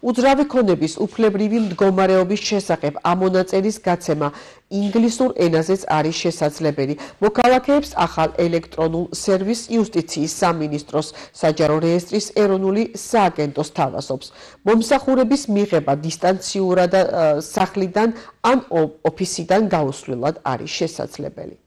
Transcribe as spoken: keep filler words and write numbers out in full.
უძრავი ქონების უფლებრივი მდგომარეობის შესახებ ამონაწერის გაცემა ინგლისურ ენაზეც არის შესაძლებელი. მოქალაქეებს ახალ ელექტრონულ სერვისს იუსტიციის სამინისტროს საჯარო რეესტრის ეროვნული სააგენტოს თავაზობს. მომსახურების მიღება დისტანციურად სახლიდან ან ოფისიდან გაუსვლელად არის შესაძლებელი.